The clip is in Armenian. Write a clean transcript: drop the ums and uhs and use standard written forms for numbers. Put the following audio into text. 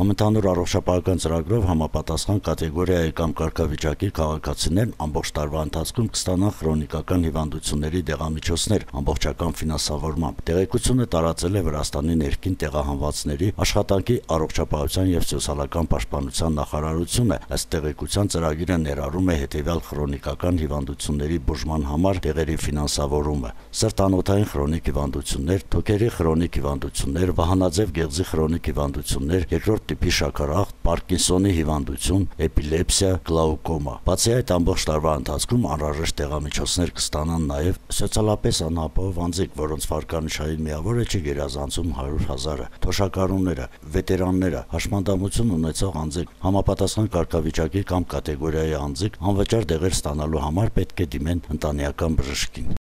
Համընդհանուր առողջապահական ծրագրով համապատասխան կատեգորիայի կամ կարգավիճակի քաղաքացիներն ամբողջ տարվա ընթացքում կստանան քրոնիկական հիվանդությունների դեղամիջոցներ ամբողջական ֆինանսավորմամբ։ Տեղեկությունը տարածել է Վրաստանի ներքին տեղահանվածների աշխատանքի, առողջապահության եւ սոցիալական պաշտպանության նախարարությունը։ Ըստ տեղեկության ծրագիրը ներառում է հետեւյալ քրոնիկական հիվանդությունների բուժման համար տեղերի ֆինանսավորումը՝ սրտանոթային քրոնիկ հիվանդություններ, թոքերի քրոնիկ հիվանդություններ, վահանաձև գեղձի քրոնիկ հիվանդություններ, երկրորդ տիպի շաքարախտ, Պարկինսոնի հիվանդություն, էպիլեպսիա, գլաուկոմա։ Բացի այդ, ամբողջ տարվա ընթացքում անհրաժեշտ տեղամիջոցներ կստանան նաեւ սոցիալապես անապահով անձինք, որոնց վարկանիշային միավորը չի գերազանցում 100,000-ը, թոշակառուները, վետերանները, հաշմանդամություն ունեցող անձինք, համապատասխան կարգավիճակի կամ կատեգորիայի անձինք անվճար դեղեր ստանալու համար պետք է դիմեն ընտանեկան բժշկին։